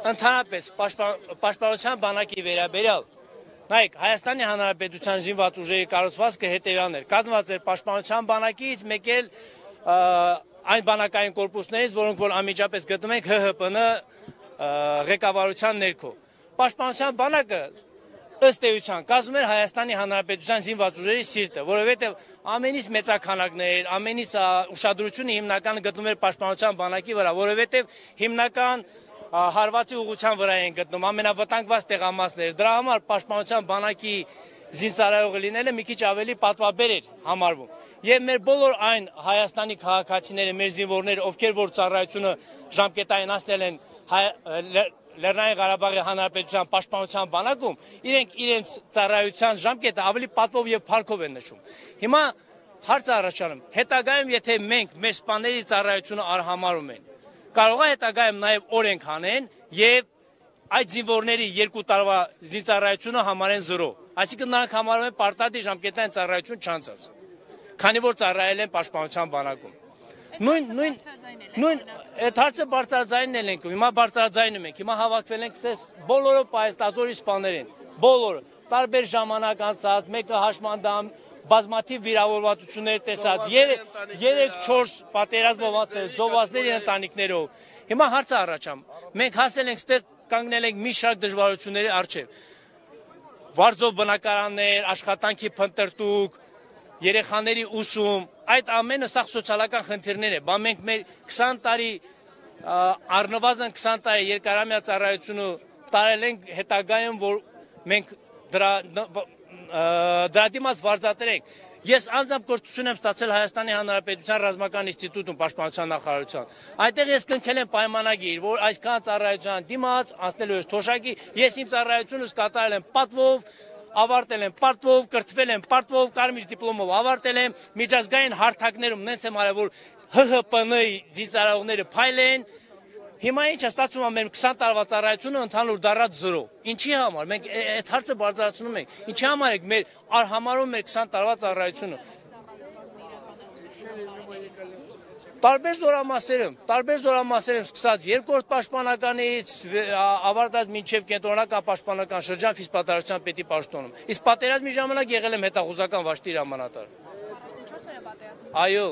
Ընդհանրապես պաշտպանության բանակի վերաբերյալ նայեք Հայաստանի Հանրապետության զինված ուժերի կառուցվածքը հետևյալն էր, կազմված էր պաշտպանության բանակից, մեկ էլ այն բանակային կորպուսներից, որոնք որ անմիջապես գտնում ենք ՀՀՊՆ ղեկավարության ներքո։ Պաշտպանության բանակը ըստ էության կազմում էր Հայաստանի Հանրապետության զինված ուժերի սիրտը, որովհետև ամենից մեծաքանակներ, ամենից ուշադրությունը հիմնականը գտնում էր պաշտպանության բանակի վրա, որովհետև հիմնական հարվածի ուղղության վրա են գտնում ամենավտանգված տեղամասներ։ Դրա համար պաշտպանության բանակի զինծառայողը լինելը մի քիչ ավելի պատվաբեր էր համարվում։ Եվ մեր բոլոր այն Հայաստանի քաղաքացիները, մեր զինվորները, ովքեր որ ծառայությունը ժամկետային անցնել են Լեռնային Ղարաբաղի Հանրապետության պաշտպանության բանակում, իրենք իրենց ծառայության ժամկետը ավելի պատվով եւ փառքով են նշում։ Հիմա հարց առաջանում, հետագայում եթե մենք մեր սպաների ծառայությունը արհամարում են, կարող է հետագայում նաև օրենք հանեն եւ այդ զինվորների 2 տարվա զինծառայությունը համարեն 0։ Այսինքն նրանք համարում են պարտադիր ժամկետային ծառայություն չանցած, քանի որ ծառայել են պաշտպանության բանակում։ Նույն այդ հարցը բարձրաձայնն ենք, հիմա բարձրաձայնում ենք, հիմա հավաքվել ենք ցես բոլորը պայստազորի սպաներ են, բոլորը տարբեր ժամանակ անցած, մեկը հաշմանդամ բազմաթիվ վիրավորվածություններ տեսած, 3-4 պատերազմով անցել, զոհվածների ընտանիքներով։ Հիմա հարցը առաջամ, մենք հասել ենք ստեղ կանգնել ենք մի շարք դժվարությունների առջև։ Վարձով բնակարաններ, աշխատանքի փնտրտուք, երեխաների ուսում, այդ ամենը սա սոցիալական խնդիրներ է, բա մենք մեր 20 տարի առնվազն 20 տարի երկարամյա ծառայությունը տարել ենք հետագայում, որ մենք դրա դիմաց վարձատրենք։ Ես անձամբ կրթություն եմ ստացել Հայաստանի Հանրապետության ռազմական ինստիտուտում պաշտպանության նախարարության։ Այնտեղ ես կնքել եմ պայմանագիր, որ այսքան ծառայության դիմաց անցնելու ես թոշակի, ես իմ ծառայությունս կատարել եմ պատվով, ավարտել եմ պարտվով, կրթվել եմ պարտվով, կարմիր դիպլոմով ավարտել եմ, միջազգային հարթակներում նենց եմ արել, որ ՀՀՊՆ-ի զինծառայողները փայլեն։ Հիմա ինչ է ստացվում, մեր 20 տարվա ծառայությունը ընդհանուր դառած 0։ Ինչի համար մենք այդ հարցը բարձրացնում ենք։ Ինչի համար եք մեր արհամարում մեր 20 տարվա ծառայությունը։ Տարբեր զորամասերում սկսած երկրորդ պաշտպանականից ավարտած մինչև կենտրոնական պաշտպանական շրջան ֆիզպատարության պետի պաշտոնում։ Իսկ պատերազմի ժամանակ եղել եմ հետախուզական վաշտի հրամանատար։ Այո։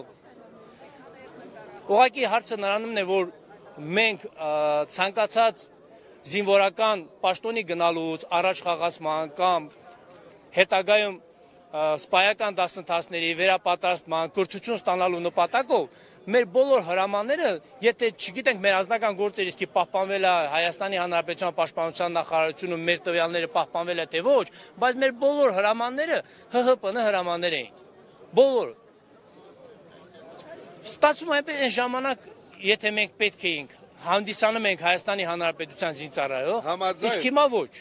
Ուղղակի հարցը նրանումն է, որ մենք ցանկացած զինվորական պաշտոնի գնալուց առաջ խաղացման կամ հետագայում սպայական դասընթացների վերապատրաստման, կրթություն ստանալու նպատակով մեր բոլոր հրամանները, եթե չգիտենք մեր անձնական գործեր իսկի պահպանվել է Հայաստանի Հանրապետության պաշտպանության նախարարությունում մեր տվյալները պահպանվել է թե ոչ, բայց մեր բոլոր հրամանները ՀՀՊՆ հրամաններ էին։ Բոլորը։ Ստացվում է այն ժամանակ, եթե մենք պետք էինք հանդիսանում ենք Հայաստանի Հանրապետության զինծառայող, իսկ հիմա ոչ։